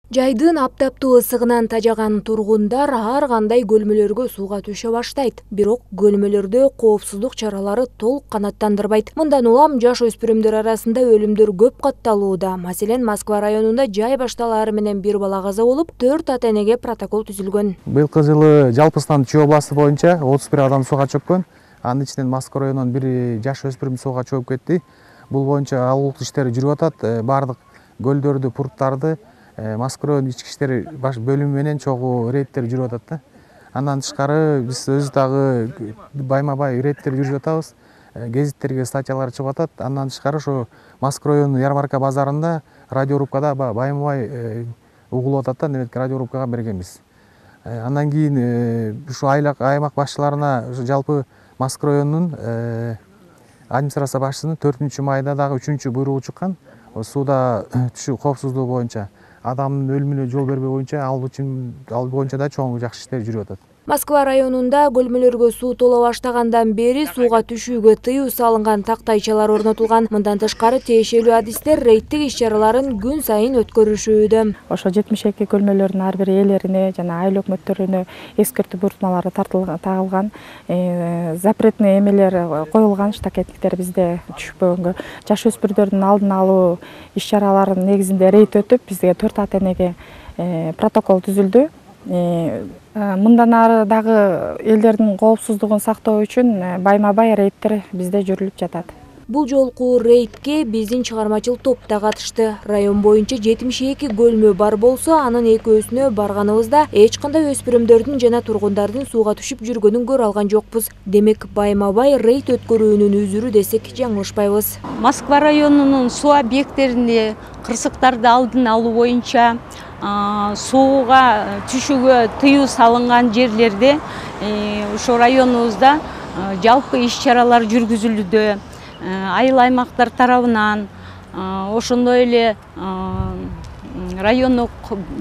Жайдын аптаптуу ысыгынан тажаган тургундар ар кандай көлмөлөргө сууга түшө баштайт. Бирок көлмөлөрдө коопсуздук чаралары толук канааттандырбайт. Мындан улам жаш өспүрүмдөр арасында өлүмдөр көп катталууда. Маселен, Москва районунда жай башталаары менен бир бала каза болуп, 4 ата-энеге протокол түзүлгөн. Быйылкы жылы жалпысынан Чүй областы боюнча 31 адам сууга чөккөн. Анын ичинен Москва районунан бир жаш өспүрүм сууга чөгүп кетти. Бул боюнча алуулук иштери жүрүп атат. Бардык көлдөрдү, пурттарды Москва район ички иштер бөлүмү менен чогуу рейдтер жүрүп атат да. Андан тышкары биз өзү дагы байма-бай рейдтер жүргүзүп атабыз. Гезиттерге статьялар чыгып атат. Андан тышкары ошо Москва району ярмарка базарында радиорубкада байма-бай угулуп атат да, неметке радиорубкага бергенбиз. Андан кийин ушу аймак башчыларына жалпы Москва районунун администрация башчысынын 4 майда дагы 3 буйругу чыккан. Сууда түшүү коопсуздугу боюнча, адамдын өлүмүнө жол бербөө боюнча, ал боюнча да чоң жакшы иштер жүрүп атат. Москва районунда көлмөлөргө суу толо баштагандан бери сууга түшүүгө тыюу салынган тактайчалар орнотулган. Мындан тышкары тиешелүү адистер рейдтик иш-чараларын күн сайын өткөрүшүүдө. Ошо 72 көлмөлөрдүн ар бир ээлерине жана айыл өкмөттөрүнө эскертүү буйрутмалары тагылган, запретный эмелер коюлган, штакеттиктер бизде түшпөгөнгө. Жаш өспүрдөрдүн алдын алуу иш-чараларынын негизинде рейд өтүп, бизге 4 ата-энеге протокол түзүлдү. Мындан ары дагы элдердин коопсуздугун сактоо үчүн байма-бай рейдтер бизде жүрүлүп жатат. Бул жолку рейдке биздин чыгармачыл топ да катышты. Район боюнча 72 көлмө бар болсо, анын экөөсүнө барганыбызда эч кандай өспүрүмдөрдүн жана тургундардын сууга түшүп жүргөнүн көрө алган жокпуз. Демек, байма-бай рейд өткөрүүнүн үзүрү десек жаңылышпайбыз. Москва районунун суу объекттеринде кырсыктарды алдын алуу боюнча сууга түшүүгө тыюу салынган жерлерде ошо районубузда жалпы иш-чаралар жүргүзүлүүдө. Айыл аймактар тарабынан, ошондой эле райондук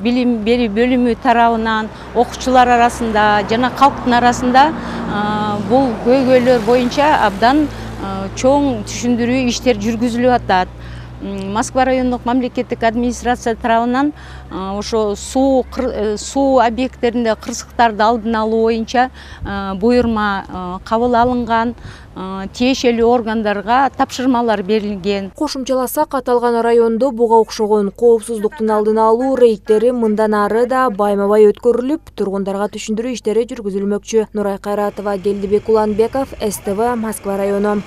билим берүү бөлүмү тарабынан, окуучулар арасында жана калктын арасында бул көйгөйлөр боюнча абдан чоң түшүндүрүү иштер жүргүзүлүп атат. Москва райондук мамлекеттик администрация тарабынан ошо суу объекттеринде кырсыктарды алдын алуу боюнча буйрма кабыл алынган, тиешелүү органдарга тапшырмалар берилген. Кошумчаласак, аталган райондо буга окшогон коопсуздуктун алдын алуу рейдтери мындан ары да байма-бай өткөрүлүп, тургундарга түшүндүрүү иштери жүргүзүлмөкчү. Нурай Кайратова, Келдибек Уланбеков, СТВ, Москва району.